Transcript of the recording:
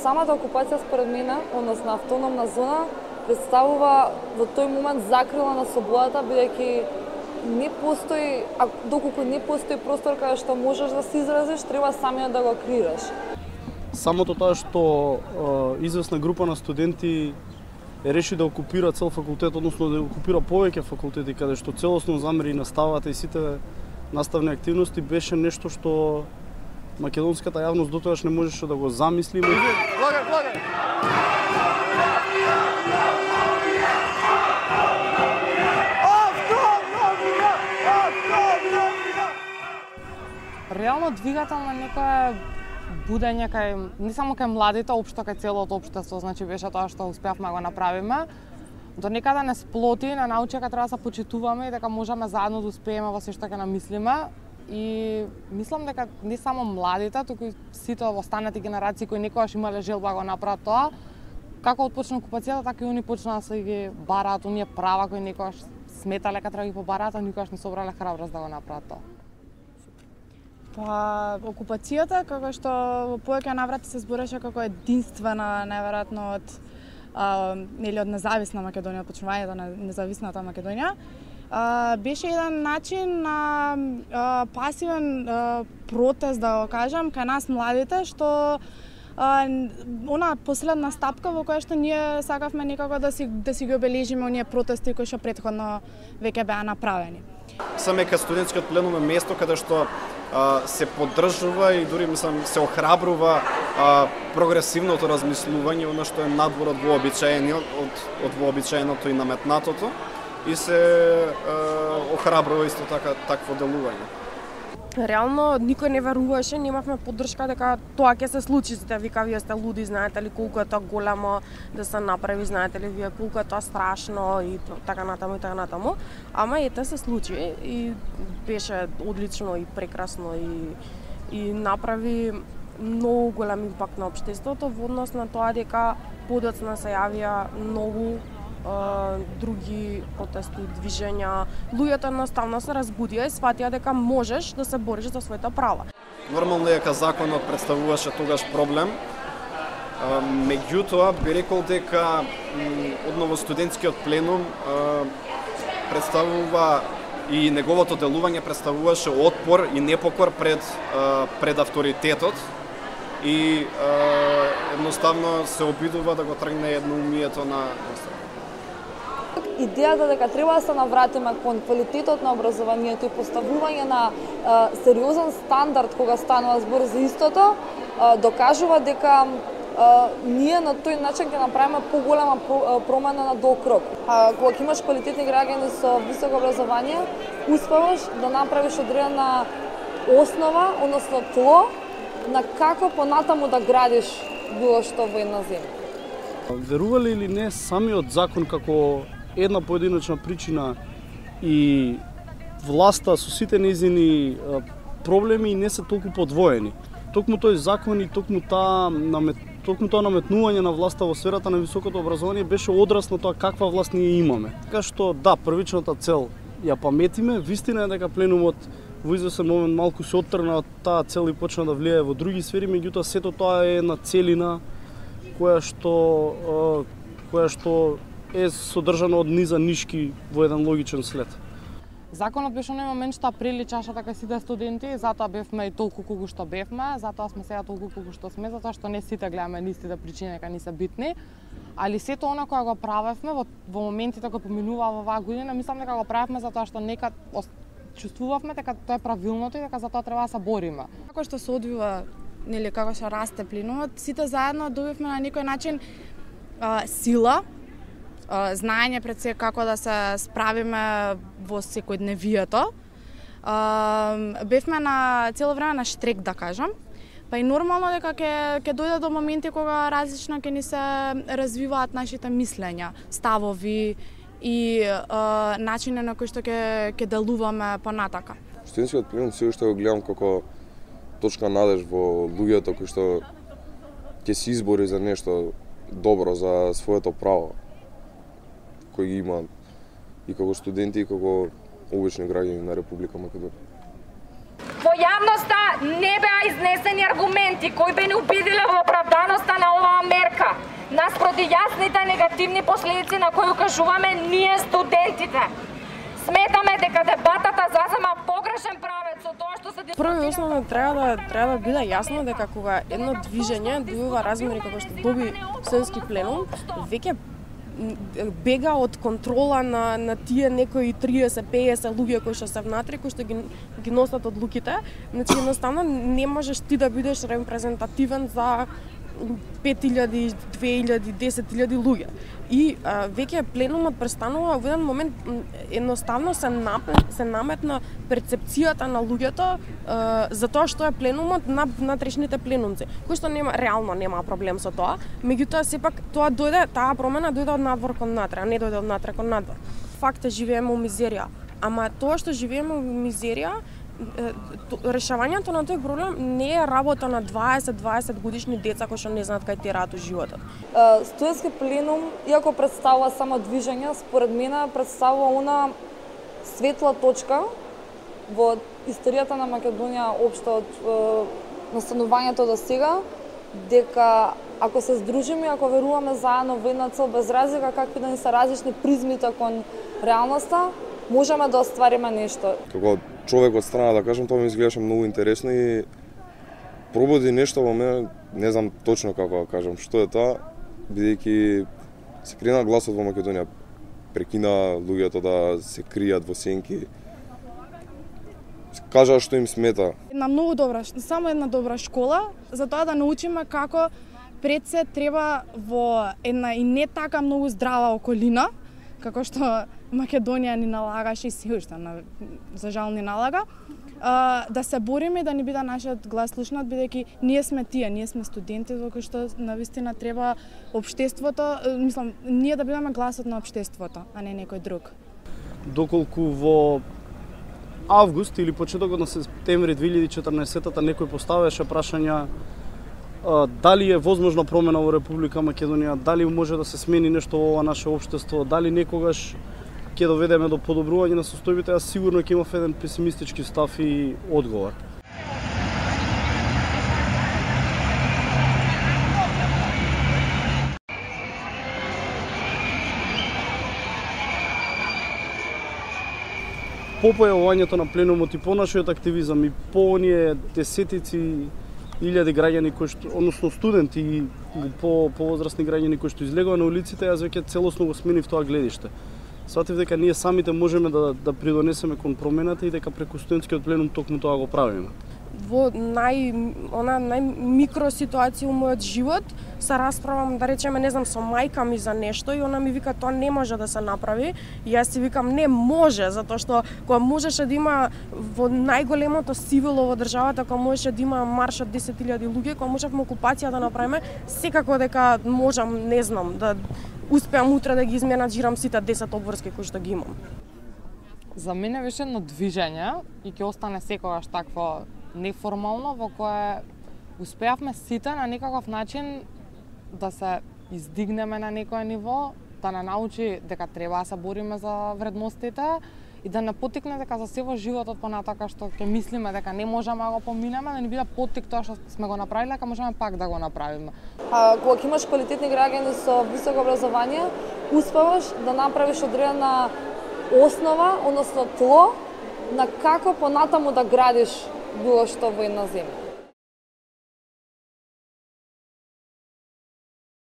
самата окупација според мене, односно автономна зона, представува во тој момент закрила на слободата, бидејќи не постои, доколку не постои простор каде што можеш да се изразиш, треба самиот да го креираш. Самото тоа што известна група на студенти реши да окупира цел факултет, односно да окупира повеќе факултети, каде што целосно замери наставата и сите наставни активности, беше нешто што македонската јавност дотогаш не можеше да го замисли. Реално двигател на некое будење кај не само кај младите, општо кај целото општество, значи беше тоа што успеавме да го направиме. До некаде не сплоти, не научи дека треба да се почитуваме и дека можеме заедно да успееме во се што ќе намислиме. И мислам дека не само младите, туку и сите останати генерации кои некогаш имале желба да го направат тоа, како отпочна окупацијата, така и они почнаа да се ги бараат оние права кои некогаш сметале дека треба да ги побараат, а никогаш не собрале храброст да го направат тоа. Па, окупацијата, како што во повеќе наврати се збореше како единствена, најверојатно од независна Македонија, почнувањето на независната Македонија, беше еден начин на пасивен протест, да го кажам, кај нас младите, што она последна стапка во која што ние сакавме некако да си ги обележиме оние протести кои што претходно веќе беа направени. Самека студентскиот пленум е место каде што се поддржува и дури мислам се охрабрува прогресивното размислување, она што е надвор од вообичаеното и наметнатото, и се охрабрува исто така такво делување. Реално никој не веруваше, немавме поддршка дека тоа ќе се случи. Сите вика, вие сте луди, знаете ли колку е тоа големо да се направи, знаете ли вие колку е тоа страшно и така натаму и така натаму. Ама ете се случи и беше одлично и прекрасно и направи многу голем импакт на општеството во однос на тоа дека подоцна се јавија многу други протести, движења. Луѓето едноставно се разбудија и сватија дека можеш да се бориш за своите права. Нормално е дека законот представуваше тогаш проблем. Меѓутоа би рекол дека одново студентскиот пленум представува и неговото делување представуваше отпор и непокор пред авторитетот и едноставно се обидува да го тргне едноумието на Идејата дека треба да се навратиме кон квалитетот на образованието и поставување на сериозен стандард кога станува збор за истото, докажува дека ние на тој начин ќе направиме поголема промена на долг рок. Кога имаш квалитетни граѓани со високо образование, успеваш да направиш одредена основа, односно тло, на како понатаму да градиш било што во една земја. Верували или не, самиот закон како една поединечна причина и власта со сите нејзини проблеми не се толку подвоени. Токму тој закон и токму тоа наметнување на власта во сферата на високото образование беше одраз на тоа каква власт ние имаме. Така што да, првичната цел ја паметиме, вистина е дека пленумот во извесен момент малку се оттргна од таа цел и почна да влијае во други сфери, меѓутоа сето тоа е една целина која што е содржана од низа нишки во еден логичен след. Законот беше оној момент што приличаше дека сите студенти, затоа бевме и толку колку што бевме, затоа сме сега толку колку што сме, затоа што не сите гледаме нистите причини дека не се битни, али сето она кога го правевме во моментите кои поминуваа во оваа година, мислам дека го правевме затоа што некад чувствувавме дека тоа е правилното и дека за тоа треба да се бориме. Како што се одвива, нели како што расте пленумот, сите заедно добивме на некој начин сила, знаење пред се како да се справиме во секојдневието. Бевме на цело време на штрек, да кажам. Па и нормално дека ќе дојде до моменти кога различно ќе ни се развиваат нашите мислења, ставови и начини на кои што ќе делуваме понатака. Студентскиот пленум се уште го гледам како точка надеж во луѓето кои што ќе се избори за нешто добро за своето право кои ги имаат и како студенти и како обични граѓани на Република Македонија. Во јавноста не беа изнесени аргументи кои би ни убедиле во оправданоста на оваа наспроти јасните негативни последици на кои укажуваме ние студентите. Сметаме дека дебатата зазема погрешен правец со тоа што се Прво и основно треба да биде јасно дека кога едно движење добива размери како што доби студентски пленум, веќе бега од контрола на тие некои 30-50 луѓе кои што се внатре, кои што ги носат одлуките. Значи едноставно не можеш ти да бидеш репрезентативен за 5000, 2000, 10.000 луѓе. И веќе пленумот престанува во еден момент едноставно се наметна перцепцијата на луѓето за тоа што е пленумот на внатрешните пленумци, кој што реално нема проблем со тоа, меѓутоа сепак таа промена дојде од надвор кон натре, а не дојде од натре кон надвор. Факт е живееме во мизерија, ама тоа што живееме во мизерија, решавањето на тој проблем не е работа на 20 годишни деца кои што не знаат кај тираат животот. Студентски пленум, иако представува само движење, според мене представува она светла точка во историјата на Македонија општо од настанувањето до сега, дека ако се здружиме, ако веруваме заедно во една цел без разлика какви да ни се различни призмите кон реалноста, можеме да оствариме нешто. Како човек од страна, да кажам, тоа ми изгледаше многу интересно и пробуди нешто во мене, не знам точно како да кажам што е тоа, бидејќи се крена гласот во Македонија, прекина луѓето да се кријат во сенки. Кажаа што им смета. Една многу добра, само една добра школа за тоа да научиме како пред се треба во една и не така многу здрава околина, како што Македонија ни налагаше и се уште, за жал ни налага, да се бориме и да ни биде нашиот глас слушнат, бидејќи ние сме тие, ние сме студенти, во кои што навистина треба општеството, мислам, ние да бидеме гласот на општеството, а не некој друг. Доколку во август или почетокот на септември 2014-та некој поставеше прашања дали е возможна промена во Република Македонија, дали може да се смени нешто во ова наше општество, дали некогаш ќе доведеме до подобрување на состојбите, јас сигурно ќе имав еден песимистички став и одговор. По појавувањето на пленумот и по нашиот активизам и по оние десетици илјади граѓани кои што, односно студенти и повозрасни граѓани кои што излегува на улиците, јас веќе целосно го сменив тоа гледиште. Сватив дека ние самите можеме да придонесеме кон промената и дека преку студентскиот пленум токму тоа го правиме. Во најмикро ситуација во мојот живот се расправам, да речеме, не знам, со мајка ми за нешто и она ми вика тоа не може да се направи. И јас си викам не може, затоа што кога можеше да има во најголемото сивило во државата, кога можеше да има марш од 10.000 луѓе, кога можевме окупација да направиме, секако дека можам, не знам, да успеам утре да ги изменаџирам сите 10 обврски кои што ги имам. За мене беше едно движење и ќе остане секогаш такво неформално, во кое успеавме сите на некаков начин да се издигнеме на некое ниво, да не научи дека треба да се бориме за вредностите и да не потикне дека за се во животот понатака што ќе мислиме дека не можеме да го поминеме, да ни биде поттик тоа што сме го направиле, дека можеме пак да го направиме. Кога имаш квалитетни граѓани со високо образование, успеваш да направиш одредена основа, односно тло на како понатаму да градиш било што во една земја.